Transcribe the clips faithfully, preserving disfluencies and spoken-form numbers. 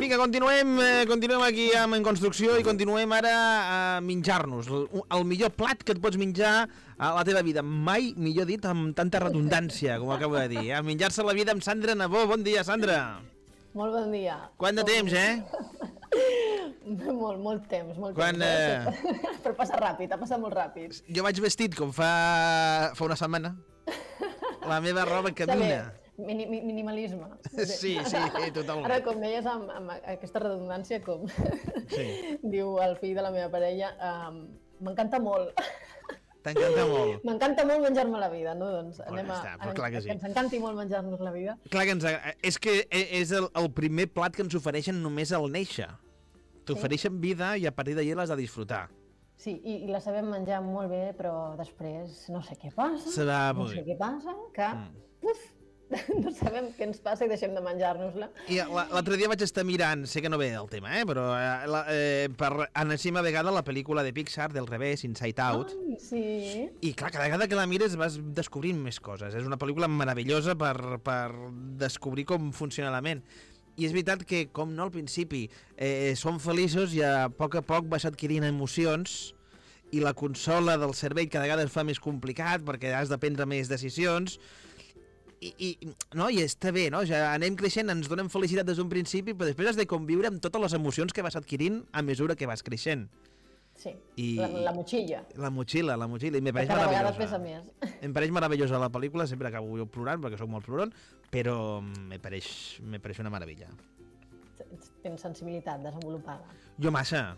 Vinga, continuem, eh, continuem aquí amb En Construcció i continuem ara a menjar-nos. El, el millor plat que et pots menjar a la teva vida. Mai, millor dit, amb tanta redundància, com acabo de dir. A menjar-se la vida amb Sandra Nabó. Bon dia, Sandra. Molt bon dia. Quant de temps, eh? molt, molt temps, molt Quan, temps. Eh... Però passa ràpid, ha passat molt ràpid. Jo vaig vestit com fa, fa una setmana. La meva roba camina. Mini, minimalisme. Sí, sí, totalment. Ara, com deies, amb, amb aquesta redundància, com sí. Diu el fill de la meva parella, um, m'encanta molt. T'encanta molt. M'encanta molt menjar-me la vida, no? Doncs però anem a, està, però clar que, sí. que ens encanti molt menjar-nos la vida. Clar que ens... És que és el, el primer plat que ens ofereixen només al néixer. T'ofereixen sí. vida i a partir d'ahir l'has de disfrutar. Sí, i, i la sabem menjar molt bé, però després no sé què passa. Serà no sé què passa, que... Mm. Uf, no sabem què ens passa i deixem de menjar-nos-la. I l'altre dia vaig estar mirant, sé que no ve el tema, eh, però eh, la, eh, per enèsima vegada la pel·lícula de Pixar del revés, Inside Out. Ai, sí. I clar, cada vegada que la mires vas descobrint més coses. És una pel·lícula meravellosa per, per descobrir com funciona la ment. I és veritat que, com no al principi, eh, som feliços i a poc a poc vas adquirint emocions i la consola del cervell cada vegada es fa més complicat perquè has de prendre més decisions. I, i, no, i està bé, no? Ja anem creixent, ens donem felicitat des d'un principi, però després has de conviure amb totes les emocions que vas adquirint a mesura que vas creixent. Sí, I, la, la motxilla. La motxilla, la motxilla, i me pareix cada meravellosa. Vegada pesa més. Em pareix meravellosa la pel·lícula, sempre acabo jo plorant, perquè sóc molt plorant, però me pareix, me pareix una meravella. Tens sensibilitat desenvolupada. Jo massa.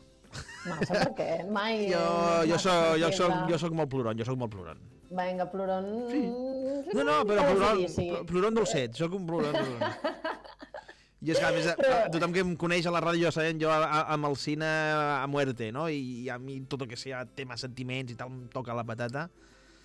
Massa, perquè mai... Jo, jo, soc, jo, soc, jo soc molt plorant, jo soc molt plorant. Vinga, plorant... Sí. No, no, però plorant, plorant dolcet, soc un plorant dolcet. I és que, a més, però... tothom que em coneix a la ràdio ja sabem, jo amb el cine a muerte, no? I a mi tot el que sigui tema sentiments i tal em toca la patata.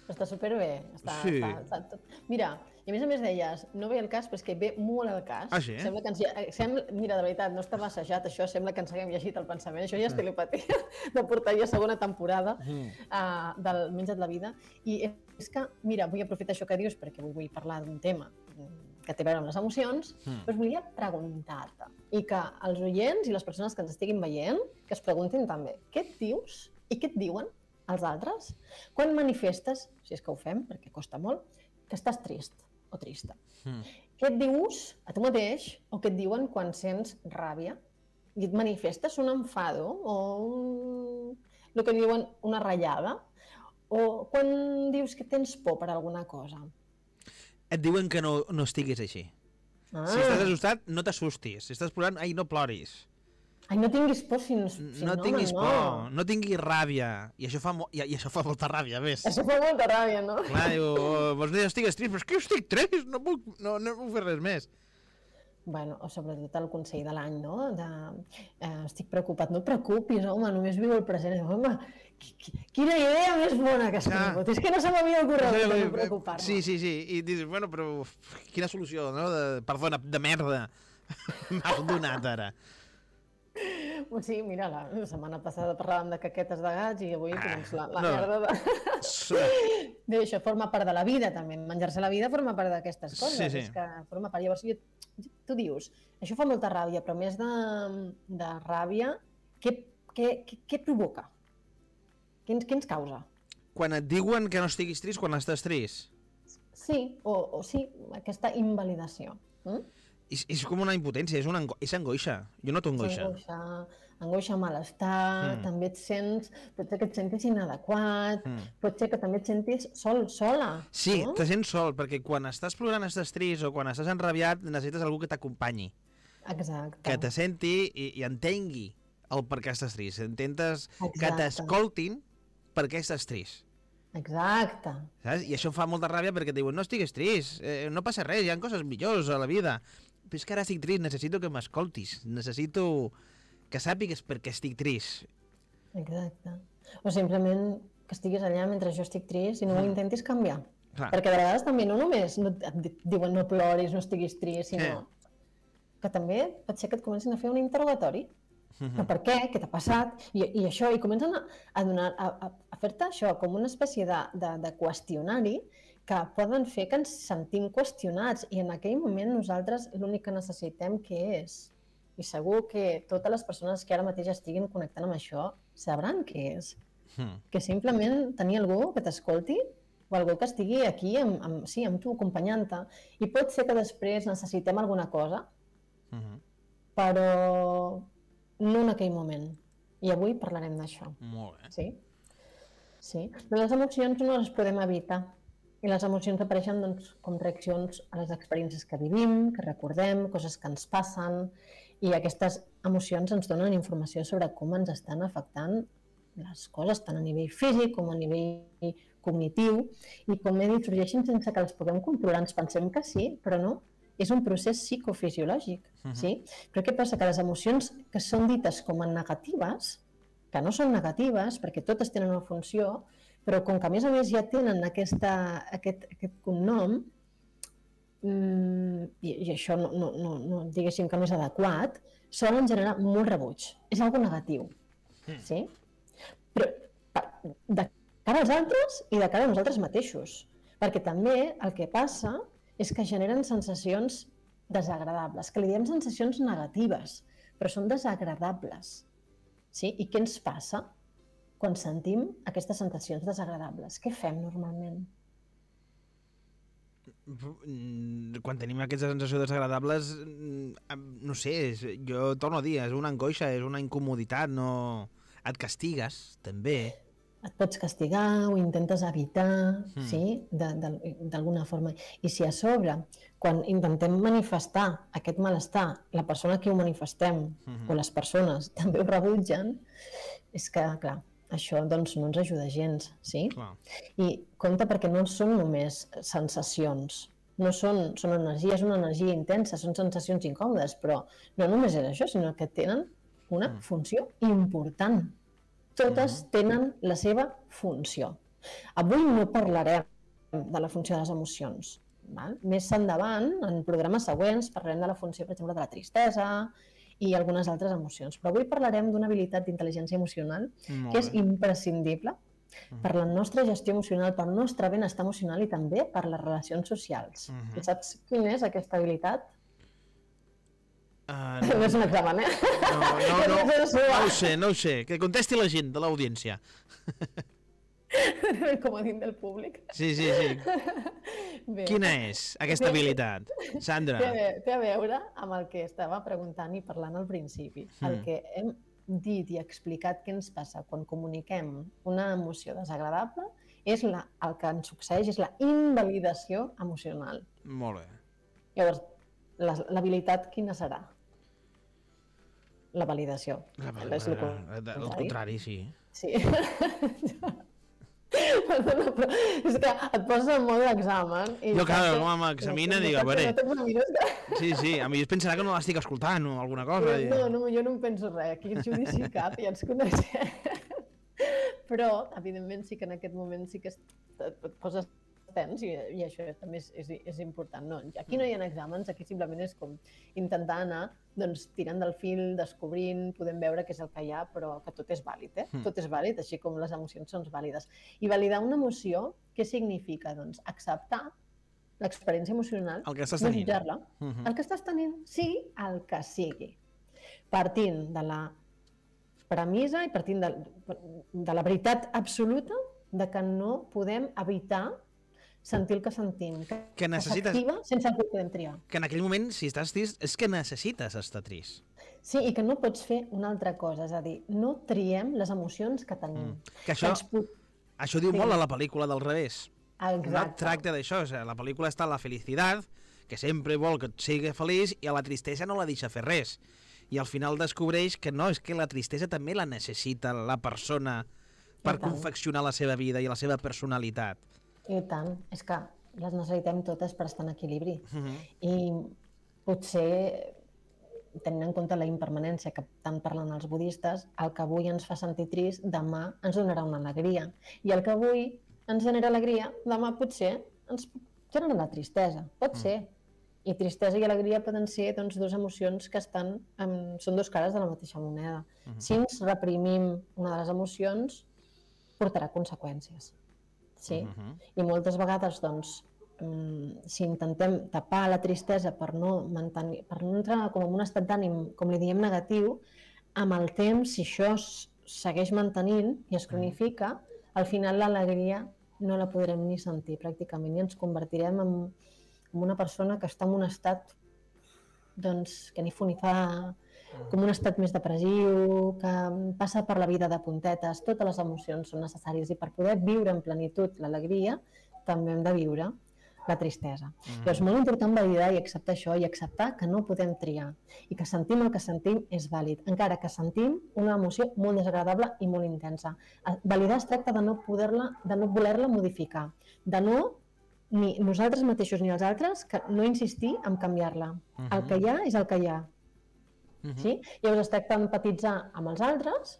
Està superbé. Està, sí. està, està tot... Mira, i a més a més deies, no ve el cas, però és que ve molt el cas. Ah, sí? Sembla que ens... Sembla... Mira, de veritat, no estava assajat això, sembla que ens haguem llegit el pensament. Això ja és telepatia de portar ja segona temporada mm. uh, del Menja't la vida. I és que, mira, vull aprofitar això que dius perquè vull, vull parlar d'un tema que té a veure amb les emocions, mm. però volia preguntar-te i que els oients i les persones que ens estiguin veient que es preguntin també, què et dius i què et diuen els altres quan manifestes, si és que ho fem, perquè costa molt, que estàs trist o trista. Mm. Què et dius a tu mateix o què et diuen quan sents ràbia i et manifestes un enfado o un... el que diuen una ratllada o quan dius que tens por per alguna cosa. Et diuen que no, no estiguis així. Ah. Si estàs assustat, no t'assustis. Si estàs plorant, ai, no ploris. Ai, no tinguis por si no... Si no, no tinguis no. por, no tinguis ràbia. I això fa, mo i, i això fa molta ràbia, a més. Això fa molta ràbia, no? Clar, diu, vols dir, estigues trist, però és que jo estic trist, no puc, no, no puc fer res més. Bueno, o sobretot el consell de l'any, no? De, eh, estic preocupat, no et preocupis, home, només viu el present. Home, quina idea més bona que has tingut. És que no se m'havia ocorregut de no preocupar-me. Sí, sí, sí. I dius, bueno, però quina solució, no? De, perdona, de merda. M'has donat ara. Sí, mira, la setmana passada parlàvem de caquetes de gats i avui ah, doncs, la, la no. merda de... Bé, això forma part de la vida, també. Menjar-se la vida forma part d'aquestes coses. Sí, sí. És que forma part. Llavors, jo, tu dius, això fa molta ràbia, però més de, de ràbia, què, què, què, què provoca? Què ens, què ens causa? Quan et diuen que no estiguis trist, quan estàs trist? Sí, o, o sí, aquesta invalidació. Mm? És, és com una impotència, és, una ango és angoixa. Jo noto angoixa. Angoixa, angoixa, malestar, mm. també et sents, pot ser que et sentis inadequat, mm. pot ser que també et sentis sol, sola. Sí, no? te sents sol, perquè quan estàs plorant, estàs trist, o quan estàs enrabiat, necessites algú que t'acompanyi. Exacte. Que te senti i, i entengui el per què estàs trist. Intentes Exacte. Que t'escoltin per què estàs trist. Exacte. Saps? I això em fa molta ràbia perquè et diuen, no estigues trist, eh, no passa res, hi ha coses millors a la vida. Però és que ara estic trist, necessito que m'escoltis, necessito que sàpigues per què estic trist. Exacte. O simplement que estiguis allà mentre jo estic trist i no mm. ho intentis canviar. Clar. Perquè de vegades també no només no, et diuen no ploris, no estiguis trist, sinó eh. que també pot ser que et comencin a fer un interrogatori. Mm-hmm. Per què? Què t'ha passat? I, i això, i comencen a, a, donar, a, a fer-te això com una espècie de, de, de qüestionari que poden fer que ens sentim qüestionats i en aquell moment nosaltres l'únic que necessitem què és? I segur que totes les persones que ara mateix estiguin connectant amb això sabran què és. Mm. Que simplement tenir algú que t'escolti o algú que estigui aquí amb, amb, sí, amb tu, acompanyant-te. I pot ser que després necessitem alguna cosa, mm-hmm. però no en aquell moment. I avui parlarem d'això. Molt bé. Sí? Sí. Les emocions no les podem evitar. I les emocions apareixen doncs, com reaccions a les experiències que vivim, que recordem, coses que ens passen, i aquestes emocions ens donen informació sobre com ens estan afectant les coses, tant a nivell físic com a nivell cognitiu, i com he dit, sorgeixen sense que les puguem controlar. Ens pensem que sí, però no. És un procés psicofisiològic. Uh-huh. Sí? Però què passa? Que les emocions que són dites com a negatives, que no són negatives, perquè totes tenen una funció, però com que a més a més ja tenen aquesta, aquest, aquest cognom, mmm, i, i això no, no, no, no diguéssim que no és adequat, solen generar molt rebuig. És algo negatiu. Mm. Sí? Però de cara als altres i de cara a nosaltres mateixos. Perquè també el que passa és que generen sensacions desagradables, que li diem sensacions negatives, però són desagradables. Sí? I què ens passa quan sentim aquestes sensacions desagradables? Què fem normalment? Quan tenim aquestes sensacions desagradables, no sé, és, jo torno a dir, és una angoixa, és una incomoditat, no... Et castigues, també. Et pots castigar, ho intentes evitar, mm. sí, d'alguna forma. I si a sobre, quan intentem manifestar aquest malestar, la persona que ho manifestem, mm-hmm. o les persones, també ho rebutgen, és que, clar, això doncs, no ens ajuda gens, sí? Clar. I compte perquè no són només sensacions, no són, són energia, és una energia intensa, són sensacions incòmodes, però no només és això, sinó que tenen una mm. funció important. Totes mm. tenen la seva funció. Avui no parlarem de la funció de les emocions. Val? Més endavant, en programes següents, parlarem de la funció, per exemple, de la tristesa i algunes altres emocions. Però avui parlarem d'una habilitat d'intel·ligència emocional mm. que és imprescindible mm. per la nostra gestió emocional, per el nostre benestar emocional i també per les relacions socials. Mm-hmm. I saps quina és aquesta habilitat? Uh, no. no és un examen, eh? No, no, no, no ho sé, no ho sé. Que contesti la gent de l'audiència. El comodín del públic. Sí, sí, sí. Bé. Quina és aquesta habilitat, Sandra? Té, té a veure amb el que estava preguntant i parlant al principi. Mm. El que hem dit i explicat què ens passa quan comuniquem una emoció desagradable és la, el que ens succeeix és la invalidació emocional. Molt bé. Llavors, l'habilitat quina serà? La validació. La validació. El, el, el contrari, sí. Sí. Perdona, però és que et poses en mode examen. I jo, clar, com m'examina, no, dic, a veure... No sí, sí, a mi es pensarà que no l'estic escoltant o alguna cosa. No, no, jo no em penso res. Aquí el judici cap, ja ens coneixem. Però, evidentment, sí que en aquest moment sí que et, et poses tens i, i això també és, és, és important. No, aquí no hi ha exàmens, aquí simplement és com intentar anar doncs, tirant del fil, descobrint, podem veure què és el que hi ha, però que tot és vàlid, eh? Mm. Tot és vàlid, així com les emocions són vàlides. I validar una emoció, què significa? Doncs acceptar l'experiència emocional, el que estàs tenint. Jutjar-la, mm-hmm. el que estàs tenint, sí, el que sigui. Partint de la premissa i partint de, de la veritat absoluta de que no podem evitar sentir el que sentim, que, que necessites... s'activa sense el que podem triar. Que en aquell moment, si estàs trist, és que necessites estar trist. Sí, i que no pots fer una altra cosa, és a dir, no triem les emocions que tenim. Mm. Que això, que pot... això diu sí. molt a la pel·lícula del revés. Exacte. No tracta d'això, o sigui, la pel·lícula està la felicitat, que sempre vol que et sigui feliç, i a la tristesa no la deixa fer res. I al final descobreix que no, és que la tristesa també la necessita la persona per confeccionar la seva vida i la seva personalitat. I tant, és que les necessitem totes per estar en equilibri. Uh-huh. I potser, tenint en compte la impermanència que tant parlen els budistes, el que avui ens fa sentir trist, demà ens donarà una alegria. I el que avui ens genera alegria, demà potser ens genera la tristesa. Pot uh-huh. ser. I tristesa i alegria poden ser doncs, dues emocions que estan, um, són dos cares de la mateixa moneda. Uh-huh. Si ens reprimim una de les emocions, portarà conseqüències. sí? I moltes vegades, doncs, si intentem tapar la tristesa per no mantenir, per no entrar com en un estat d'ànim, com li diem, negatiu, amb el temps, si això es segueix mantenint i es cronifica, al final l'alegria no la podrem ni sentir pràcticament i ens convertirem en, en una persona que està en un estat doncs, que ni fu ni fa, com un estat més depressiu, que passa per la vida de puntetes. Totes les emocions són necessàries i per poder viure en plenitud l'alegria també hem de viure la tristesa. Mm. Però és molt important validar i acceptar això i acceptar que no podem triar i que sentim el que sentim és vàlid, encara que sentim una emoció molt desagradable i molt intensa. Validar es tracta de no poder-la, de no voler-la modificar, de no, ni nosaltres mateixos ni els altres, que no insistir en canviar-la. Uh-huh. El que hi ha és el que hi ha. Uh-huh. Sí? Llavors es tracta d'empatitzar amb els altres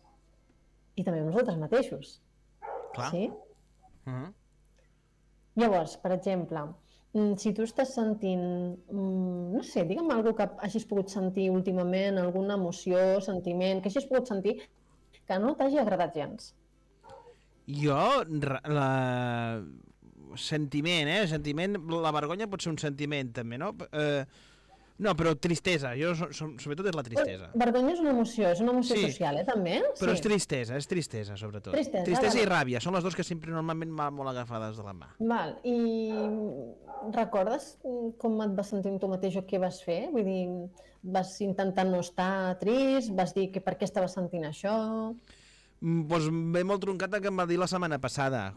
i també amb nosaltres mateixos. Clar. Sí? Uh-huh. Llavors, per exemple, si tu estàs sentint, no sé, digue'm alguna cosa que hagis pogut sentir últimament, alguna emoció, sentiment, que hagis pogut sentir que no t'hagi agradat gens. Jo, la... sentiment, eh? Sentiment, la vergonya pot ser un sentiment, també, no? Eh... No, però tristesa, jo so, so, sobretot és la tristesa. Vergonya és una emoció, és una emoció sí, social, eh, també? Però sí. és tristesa, és tristesa, sobretot. Tristesa, tristesa vale. I ràbia, són les dues que sempre normalment van molt agafades de la mà. Val, i recordes com et vas sentir tu mateix o què vas fer? Vull dir, vas intentar no estar trist, vas dir que per què estaves sentint això? Mm, doncs ve molt truncat el que em va dir la setmana passada.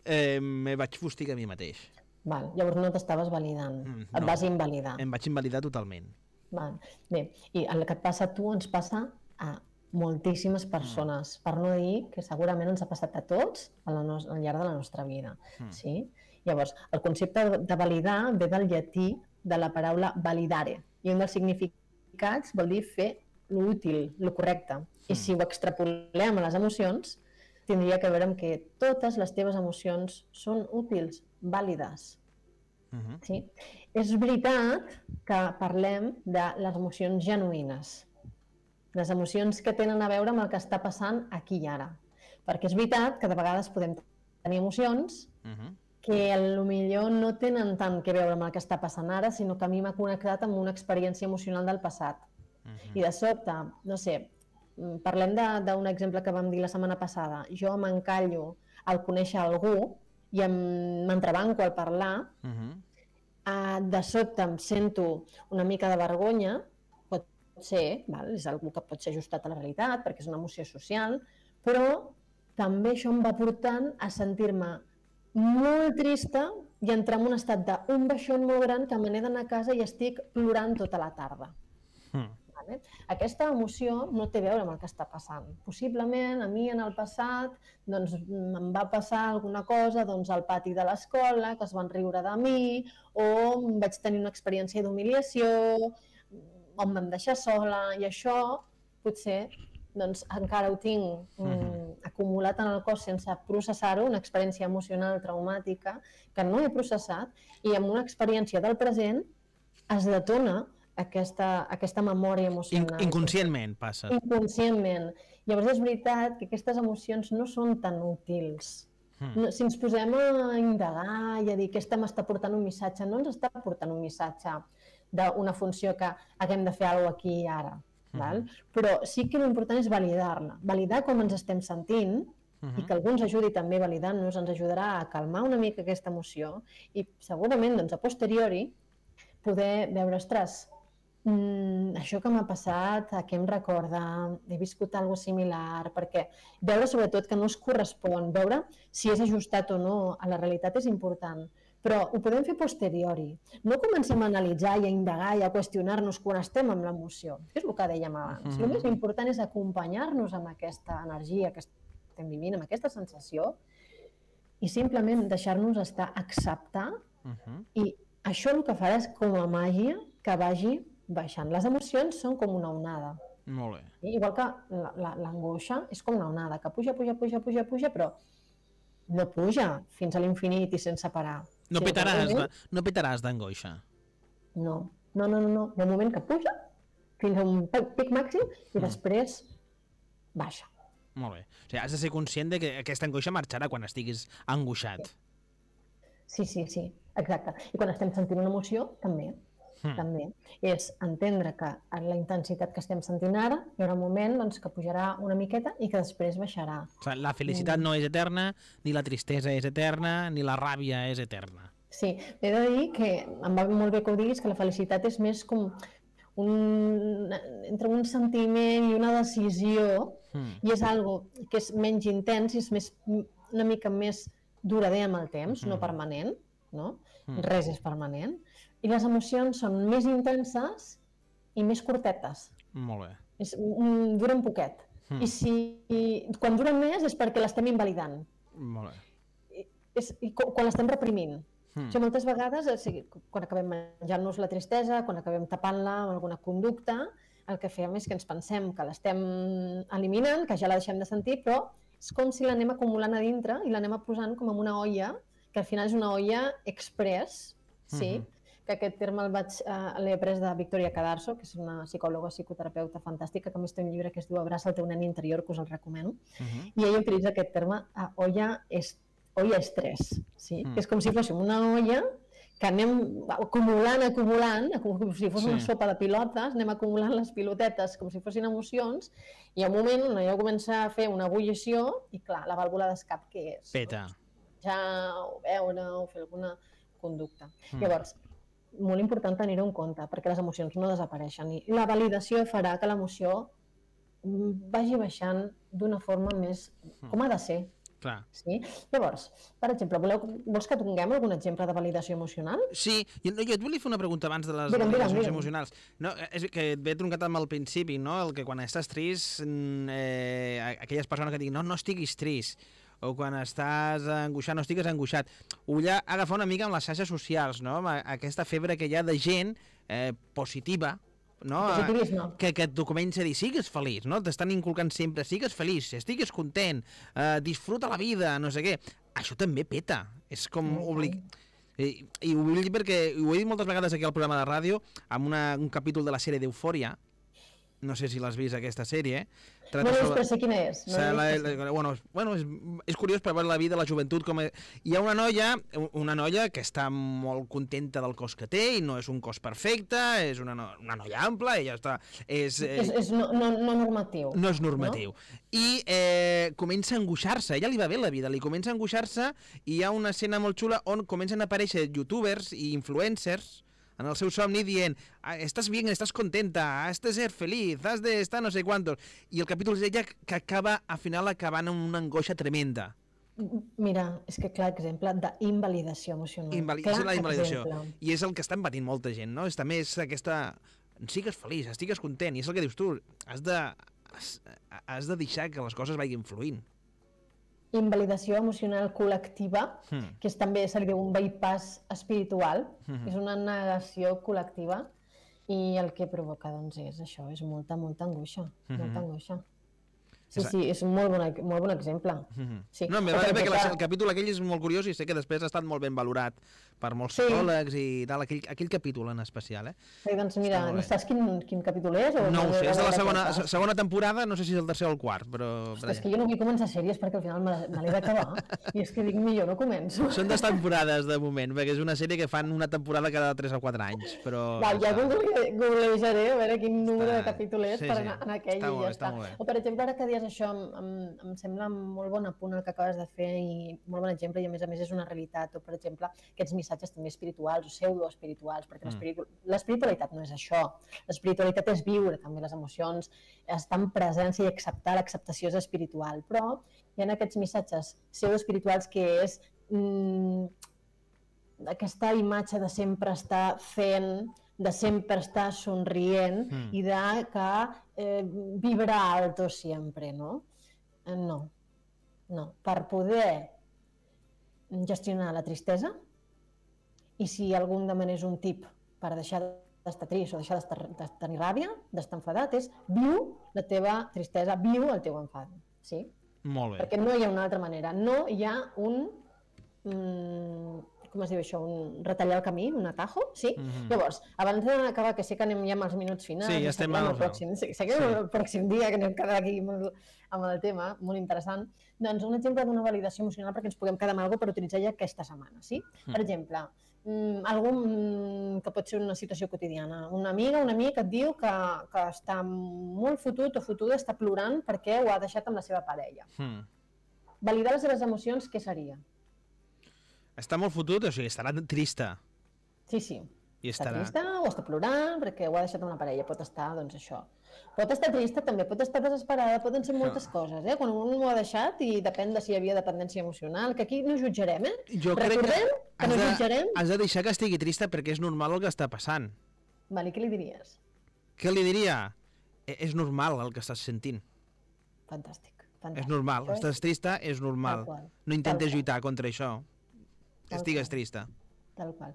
Eh, me vaig fustigar a mi mateix. Val, llavors no t'estaves validant, mm, no. Et vas invalidar. Em vaig invalidar totalment. Val. Bé, i el que et passa a tu ens passa a moltíssimes persones, mm. per no dir que segurament ens ha passat a tots al, no al llarg de la nostra vida. Mm. Sí? Llavors, el concepte de validar ve del llatí de la paraula validare, i un dels significats vol dir fer l'útil, el correcte. Mm. I si ho extrapolem a les emocions, tindria que veure amb que totes les teves emocions són útils, vàlides. Uh-huh. Sí? És veritat que parlem de les emocions genuïnes, les emocions que tenen a veure amb el que està passant aquí i ara. Perquè és veritat que de vegades podem tenir emocions uh-huh. que potser no tenen tant que veure amb el que està passant ara, sinó que a mi m'ha connectat amb una experiència emocional del passat. Uh-huh. I de sobte, no sé, parlem d'un exemple que vam dir la setmana passada. Jo m'encallo al conèixer algú i m'entrebanco al parlar, uh-huh. uh, de sobte em sento una mica de vergonya, pot ser, val? És algú que pot ser ajustat a la realitat, perquè és una emoció social, però també això em va portant a sentir-me molt trista i entrar en un estat d'un baixón molt gran que me n'he d'anar a casa i estic plorant tota la tarda. Uh-huh. Aquesta emoció no té a veure amb el que està passant. Possiblement a mi en el passat doncs, em va passar alguna cosa doncs, al pati de l'escola, que es van riure de mi, o vaig tenir una experiència d'humiliació, o em vam deixar sola, i això potser doncs, encara ho tinc mm, acumulat en el cos sense processar-ho, una experiència emocional traumàtica que no he processat, i amb una experiència del present es detona Aquesta, aquesta memòria emocional. Inconscientment passa. Inconscientment. Llavors és veritat que aquestes emocions no són tan útils. Hmm. No, si ens posem a indagar i a dir que aquesta m'està portant un missatge, no ens està portant un missatge d'una funció que haguem de fer alguna cosa aquí i ara. Hmm. Val? Però sí que l'important és validar-la. Validar com ens estem sentint, uh-huh. i que algú ens ajudi també validant-nos, ens ajudarà a calmar una mica aquesta emoció i segurament doncs, a posteriori poder veure, ostres, Mm, això que m'ha passat, a què em recorda, he viscut alguna cosa similar, perquè veure sobretot que no es correspon, veure si és ajustat o no a la realitat és important, però ho podem fer posteriori. No comencem a analitzar i a indagar i a qüestionar-nos quan estem amb l'emoció, que és el que dèiem abans. Mm-hmm. El més important és acompanyar-nos amb aquesta energia que estem vivint, amb aquesta sensació, i simplement deixar-nos estar, acceptar, mm-hmm. i això el que farà és com a màgia que vagi baixant. Les emocions són com una onada. Molt bé. Igual que l'angoixa és com una onada, que puja, puja, puja, puja, puja, però no puja fins a l'infinit i sense parar. No petaràs, moment... no petaràs d'angoixa. No, no, no, no, no. Hi ha un moment que puja fins a un pic màxim i mm. després baixa. Molt bé. O sigui, has de ser conscient de que aquesta angoixa marxarà quan estiguis angoixat. Sí, sí, sí, exacte. I quan estem sentint una emoció, també. Mm. també. És entendre que en la intensitat que estem sentint ara hi haurà un moment doncs, que pujarà una miqueta i que després baixarà. La felicitat mm. no és eterna, ni la tristesa és eterna, ni la ràbia és eterna. Sí, he de dir que em va molt bé que ho diguis, que la felicitat és més com un, entre un sentiment i una decisió, mm. i és algo que és menys intens i és més, una mica més durador amb el temps, mm. no permanent, no? Mm. Res és permanent. I les emocions són més intenses i més curtetes. Molt bé. És, um, duren poquet. Mm. I si i, quan duren més és perquè l'estem invalidant. Molt bé. I, és, i quan l'estem reprimint. Mm. O sigui, moltes vegades, o sigui, quan acabem menjant-nos la tristesa, quan acabem tapant-la amb alguna conducta, el que fem és que ens pensem que l'estem eliminant, que ja la deixem de sentir, però és com si l'anem acumulant a dintre i l'anem posant com en una olla, que al final és una olla express, sí? Mm-hmm. que aquest terme el vaig, uh, l'he après de Victoria Cadarso, que és una psicòloga psicoterapeuta fantàstica, que a més té un llibre que es diu Abraça el teu nen interior, que us el recomano, uh-huh. i ella utilitza aquest terme uh, olla, est, olla estrès, sí? uh-huh. que és com si fóssim una olla que anem acumulant, acumulant, com si fos sí. una sopa de pilotes, anem acumulant les pilotetes com si fossin emocions, i al moment on allò comença a fer una ebullició, i clar, la vàlvula d'escap què és? Peta. Doncs, ja, o veure, o fer alguna conducta. Mm. Llavors, molt important tenir-ho en compte, perquè les emocions no desapareixen i la validació farà que l'emoció vagi baixant d'una forma més com ha de ser. Clar. Sí? Llavors, per exemple, voleu, vols que tinguem algun exemple de validació emocional? Sí, jo, jo et volia fer una pregunta abans de les digue'm, validacions digue'm, digue'm. emocionals. No, és que et ve truncat amb el principi, no? El que quan estàs trist, eh, aquelles persones que diuen no, no estiguis trist, o quan estàs angoixat, no estigues angoixat. Ho vull agafar una mica amb les xarxes socials, no? Aquesta febre que hi ha de gent eh, positiva, no? que, que et comença a dir, sigues feliç, no? T'estan inculcant sempre, sigues feliç, estigues content, eh, disfruta la vida, no sé què. Això també peta, és com oblig... I, i ho vull dir perquè ho he dit moltes vegades aquí al programa de ràdio, amb una, un capítol de la sèrie d'Eufòria, no sé si l'has vist aquesta sèrie. No l'he vist, però sé quina és. No la, la, bueno, bueno, és, és curiós per veure la vida, la joventut. Com és. Hi ha una noia, una noia que està molt contenta del cos que té i no és un cos perfecte, és una, no, una noia ampla, ella està... És, és, és no, no, no normatiu. No és normatiu. No? I eh, comença a angoixar-se, a ella li va bé la vida, li comença a angoixar-se i hi ha una escena molt xula on comencen a aparèixer youtubers i influencers en el seu somni dient, estàs bien, estàs contenta, has de ser feliç, has de estar no sé quantos. I el capítol és ella que acaba, al final, acabant amb una angoixa tremenda. Mira, és que clar exemple d'invalidació emocional. Invali clar és la invalidació. Exemple. I és el que està patint molta gent, no? És també és aquesta... Sigues feliç, estigues content, i és el que dius tu, has de, has, has de deixar que les coses vagin fluint. Invalidació emocional col·lectiva, hmm. que és també se li diu un bypass espiritual, hmm. és una negació col·lectiva i el que provoca doncs és això, és molta, molta angoixa, hmm. molta angoixa. Sí, sí, és un molt bon, molt bon exemple. Mm-hmm. Sí. No, em va bé que el capítol aquell és molt curiós i sé que després ha estat molt ben valorat per molts sí. psicòlegs i tal, aquell, aquell capítol en especial, eh? Sí, doncs mira, no saps quin, quin capítol és? O no ho sé, és de la segona, segona temporada, no sé si és el tercer o el quart, però... Ostres, és que jo no vull començar sèries perquè al final me, me l'he d'acabar i és que dic, millor no començo. Són dues temporades de moment, perquè és una sèrie que fan una temporada cada tres o quatre anys, però... Va, ja googlejaré a veure quin número de capítol és sí, per anar en aquell està i ja està. està. O per exemple, ara que dius això, em, em sembla molt bon apunt el que acabes de fer i molt bon exemple i a més a més és una realitat. O per exemple, aquests missatges també espirituals o pseudoespirituals, perquè mm. l'espiritualitat no és això. L'espiritualitat és viure també les emocions, estar en presència i acceptar, l'acceptació és espiritual, però hi ha aquests missatges pseudoespirituals que és mm, aquesta imatge de sempre estar fent, de sempre estar somrient mm. i de que eh, vibrar alto sempre, no? Eh, no, no. Per poder gestionar la tristesa, i si algú em demanés un tip per deixar d'estar trist o deixar de tenir ràbia, d'estar enfadat, és viu la teva tristesa, viu el teu enfat. Sí? Molt bé. Perquè no hi ha una altra manera, no hi ha un... Mm, com es diu això, un retallar el camí, un atajo, sí? Mhm. Llavors, abans d'acabar, que sé que anem ja amb els minuts finals, Sí, ja estem seguirem al- el pròxim, sí, seguirem sí. el pròxim dia, que anem quedar aquí molt, amb el tema, molt interessant. Doncs un exemple d'una validació emocional perquè ens puguem quedar amb alguna cosa per utilitzar ja aquesta setmana, sí? Per exemple, mm, algú mm, que pot ser una situació quotidiana. Una amiga, un amic et diu que, que està molt fotut o fotuda, està plorant perquè ho ha deixat amb la seva parella. Mm. Validar les seves emocions, què seria? Està molt fotut, o sigui, estarà trista. Sí, sí. I Està estarà... trista o està plorant perquè ho ha deixat amb la parella. Pot estar, doncs, això. Pot estar trista també, pot estar desesperada, poden ser moltes coses, eh? Quan un ho ha deixat i depèn de si hi havia dependència emocional, que aquí no jutjarem, eh? Jo crec que Recordem que has no de, jutjarem. has de deixar que estigui trista perquè és normal el que està passant. Vale, què li diries? Què li diria? E- És normal el que estàs sentint. Fantàstic. Fantàstic. És normal. Això és Estàs trista, és normal. tal qual. No intentes Tal qual. lluitar contra això. Tal Estigues qual. trista. Tal qual.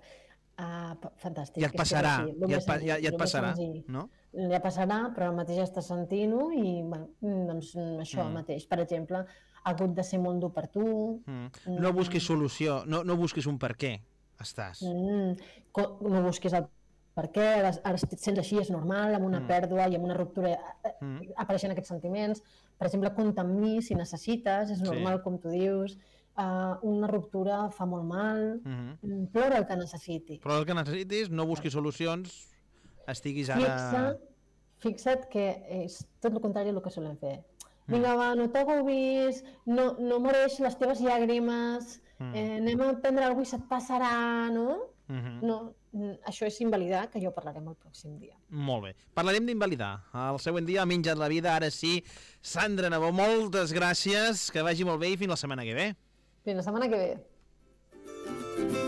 Ah, pa- fantàstic. Ja et És que passarà. sí, el Ja més et, pa- ja, senzill, ja et el més passarà, senzill. no? Ja passarà, però ara mateix estàs sentint-ho i, bueno, doncs això Mm. mateix. Per exemple, ha hagut de ser molt dur per tu. Mm. No busquis solució, no, no busquis un per què estàs. Mm, co- no busquis el per què, ara, ara et sents així, és normal, amb una Mm. pèrdua i amb una ruptura eh, Mm. apareixen aquests sentiments. Per exemple, compta amb mi si necessites, és Sí. normal, com tu dius. Uh, una ruptura fa molt mal, Mhm. mm, plora el que necessiti. Però el que necessitis, no busquis solucions, estiguis ara... Fixa, fixa't que és tot el contrari del que solem fer. Mm. Vinga, va, no t'agobis, no, no mereix les teves llàgrimes, Mm. eh, anem a prendre alguna cosa i se't passarà, no? Mhm. No, mm, això és invalidar, que ja ho parlarem el pròxim dia. Molt bé. Parlarem d'invalidar. El següent dia ha menjat la vida, ara sí. Sandra Nabó, moltes gràcies, que vagi molt bé i fins la setmana que ve. Fins la setmana que ve.